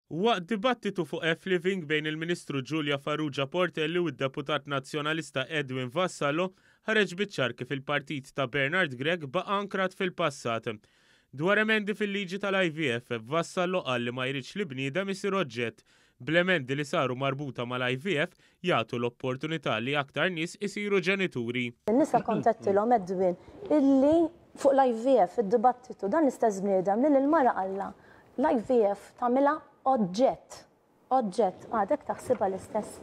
Waqt dibattitu fuq F-Living bejn il-Ministru Julia Farrugia Portelli u d-Deputat Nazzjonalista Edwin Vassallo, ħareġ biċ-ċar kif il-partit ta' Bernard Grech baqa' ankrat fil-passat. Dwar emendi fil-liġi tal-IVF, Vassallo qal li ma jridx li bniedem isir oġġett, bl-emendi li saru marbuta mal-IVF jagħtu l-opportunità li aktar nies isiru ġenituri. In-nisa kont għedtilhom Edwin illi fuq l-IVF id-dibattitu dan l-istess bniedem li lill-mara qallha L-IVF tagħmilha oġġett. Oġġett. Għadek taħsibha l-istess?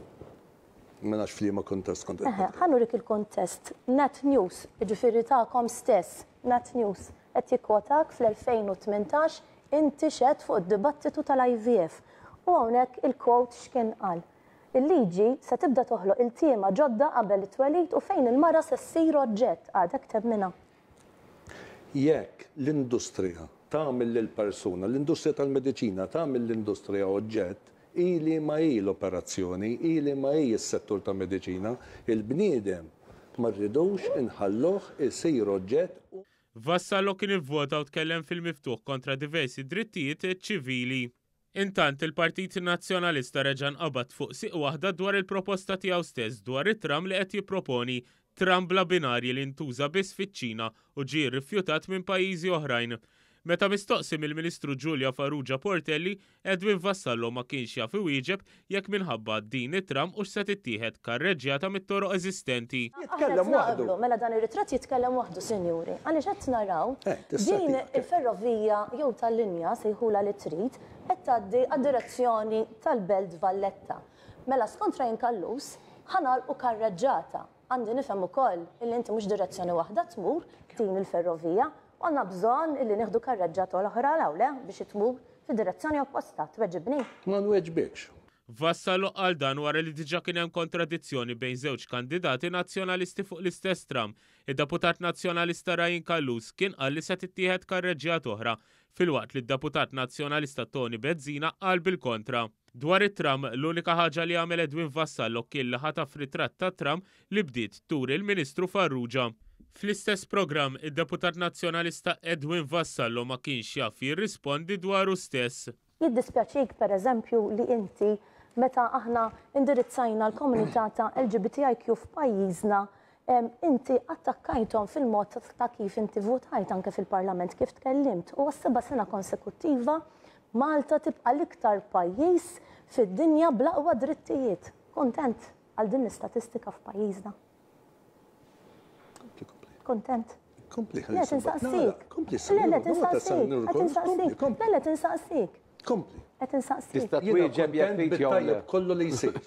Ma nafx f'liema kuntest kont qed Eħe, ħa nurik il-kuntest. Net News, jiġifieri tagħkom stess, Net News, qed jikkwotak fl-2018 inti xedt fuq id-dibattitu tal-IVF. U hawnhekk il-quote x'kien qal. Il-liġi se tibda toħloq iltiema ġodda qabel it-twelid u fejn il-mara se ssir oġġett. Għadek temminha? Jekk l-industrija tagħmel lill-persuna, l-industrija tal-mediċina tagħmel l-industrija oġġett, hi liema hi l-operazzjoni, hi liema hi s-settur ta' mediċina, il-bniedem ma rridux inħalluh isir oġġett u. Vassallo kien ivvota u tkellem fil-miftuħ kontra diversi drittijiet ċivili. Intant, il-Partit Nazzjonalista reġa' nqabad fuq sieq waħda dwar il-proposta tiegħu stess dwar it-tram li qed jipproponi, tram bla binarji li ntuża biss fiċ-Ċina u ġie rrifjutat minn pajjiżi oħrajn. Meta mistoqsi mill-Ministru Julia Farrugia Portelli, Edwin Vassallo ma kienx jaf iwieġeb jekk minħabba din it-tram hux se tittieħed karreġġjata mit-toroq eżistenti. Aħna qed naqblu, mela dan ir-ritratt jitkellem waħdu, sinjuri, għaliex qed naraw din il-ferrovija jew tal-linja, sejħulha li trid, qed tgħaddi għad-direzzjoni tal-Belt Valletta. Mela skont Ryan Callus, ħa nagħlqu karreġġata. Għandi nifhem ukoll illi inti mhux direzzjoni waħda tmur din il-ferrovija u għandna bżonn illi nieħdu karreġġata oħra 'l hawn le biex tmur fid-direzzjoni opposta. Tweġibni? Ma nweġbikx. Vassallo qal dan wara li diġà kien hemm kontradizzjoni bejn żewġ kandidati Nazzjonalisti fuq l-istess tram. Id-Deputat Nazzjonalista Ryan Callus kien qal li se tittieħed karreġġjata oħra, filwaqt li d-Deputat Nazzjonalista Toni Bezzina qal bil-kontra. Dwar it-tram, l-unika ħaġa li għamel Edwin Vassallo kien li ħataf ritratt tat-tram li bdiet turi l-Ministru Farrugia. Fl-istess programm, id-Deputat Nazzjonalista Edwin Vassallo ma kienx jaf jirrispondi dwaru stess. Jiddispjaċik, per eżempju, li inti, meta aħna indirizzajna l-komunità ta' LGBTIQ f'pajjiżna, inti attakkajthom fil-mod ta' kif inti votajt anke fil-Parlament, kif tkellimt, u għas-seba' sena konsekuttiva Malta tibqa' l-iktar pajjiż fid-dinja bl-aqwa drittijiet. Kuntent għal din l-istatistika f'pajjiżna? Kuntent? Kompli, Le, qed insaqsik. Le, le, qed insaqsik. Qed insaqsik. Le, le, qed insaqsik. Kompli. Qed insaqsik. Tista' twieġeb jekk trid jew le. Kollu li jsir.